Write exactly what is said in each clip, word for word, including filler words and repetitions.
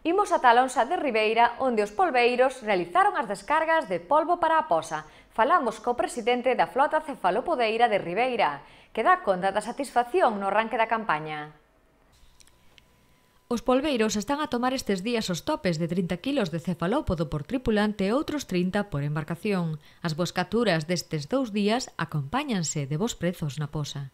Imos ata Alonsa de Ribeira, onde os polbeiros realizaron as descargas de polvo para a posa. Falamos co presidente da flota cefalopodeira de Ribeira, que dá conta da satisfacción no arranque da campaña. Os polbeiros están a tomar estes días os topes de trinta kilos de cefalópodo por tripulante e outros trinta por embarcación. As boscaturas destes dous días acompáñanse de bons prezos na posa.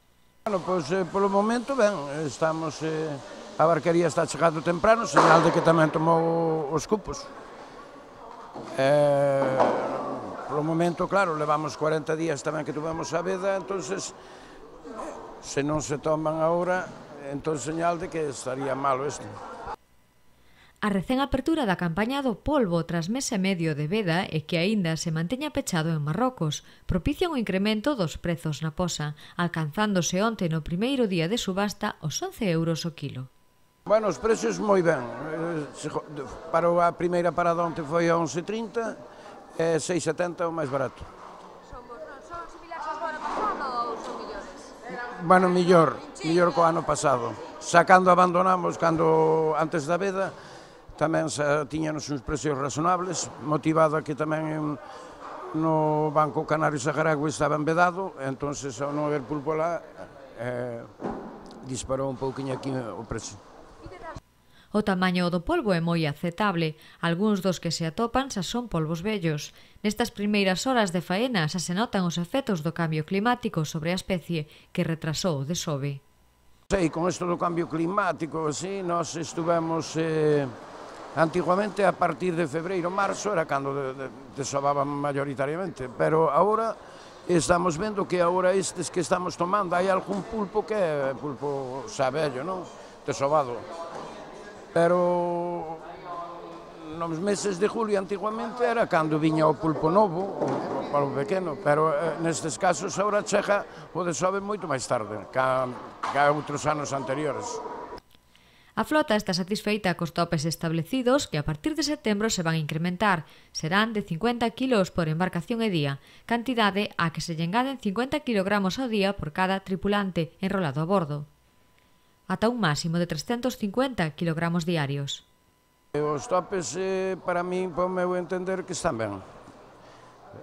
Bueno, pois, eh, polo momento, ben, estamos... Eh... A barquería está chegando temprano, señal de que tamén tomou os cupos. Eh, polo momento, claro, levamos cuarenta días tamén que tuvemos a veda, entonces, se non se toman agora, entón señal de que estaría malo isto. A recén apertura da campaña do polvo tras mes e medio de veda e que aínda se manteña pechado en Marrocos propician o incremento dos prezos na posa, alcanzándose onte no primeiro día de subasta os once euros o quilo. Bueno, os precios moi ben. Para a primeira parada onte foi a once trinta e seis setenta o máis barato. Son similares aos do ano pasado ou son millores? Bueno, millor, millor co ano pasado. Xa cando abandonamos, cando antes da veda, tamén xa tiñanos uns precios razonables, motivado a que tamén no Banco Canario Saharagüe estaban vedado, entón, ao non haber pulpo lá, eh, disparou un pouquinho aquí o precio. O tamaño do polvo é moi aceptable. Algúns dos que se atopan xa son polvos vellos. Nestas primeiras horas de faena xa se notan os efectos do cambio climático sobre a especie que retrasou o desove. Sei, con isto do cambio climático, así, nós estuvemos... Eh, antiguamente, a partir de febreiro, marzo, era cando desovaban mayoritariamente, pero agora estamos vendo que agora estes que estamos tomando, hai algún pulpo que é pulpo xa vello, non? Desovado. Pero nos meses de julio antiguamente era cando viña o pulpo novo, o pulpo pequeno, pero nestes casos agora chega o desove moito máis tarde, ca outros anos anteriores. A flota está satisfeita cos topes establecidos que a partir de setembro se van a incrementar. Serán de cincuenta kilos por embarcación e día, cantidade a que se lle engaden cincuenta kilogramos ao día por cada tripulante enrolado a bordo, ata un máximo de trescentos cincuenta kilogramos diarios. Os topes, para min, para o meu entender, que están ben.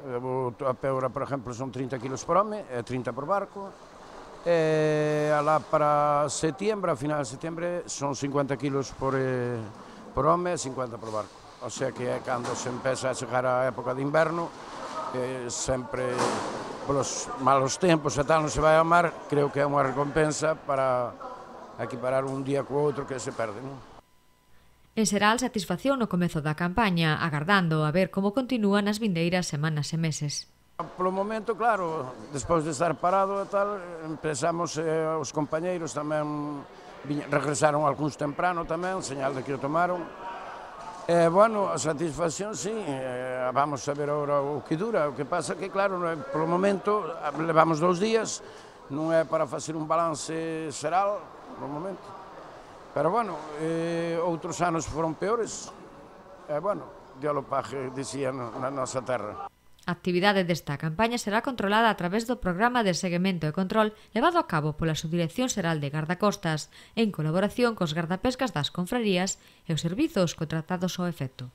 O tope agora, por exemplo, son trinta kilos por home e trinta por barco. E alá para setiembre, a final de setiembre, son cincuenta kilos por, eh, por home e cincuenta por barco. O sea que é cando se empeza a chegar a época de inverno, eh, sempre, polos malos tempos e tal, non se vai ao mar, creo que é unha recompensa para equiparar un día co outro que se perde, non? En Seral, satisfacción no comezo da campaña, agardando a ver como continúan as vindeiras semanas e meses. Polo momento, claro, despois de estar parado e tal, empezamos, eh, os compañeiros tamén regresaron algúns temprano tamén, señal de que o tomaron. E, bueno, a satisfacción, sí, eh, vamos a ver agora o que dura, o que pasa que, claro, polo momento, levamos dous días, non é para facer un balance xeral, polo momento. Pero, bueno, eh, outros anos foron peores, e, bueno, Dios lo pague, dicía na nosa terra. A actividade desta campaña será controlada a través do Programa de Seguimento e Control levado a cabo pola Subdirección Xeral de Gardacostas, en colaboración cos gardapescas das confrarías e os servizos contratados ao efecto.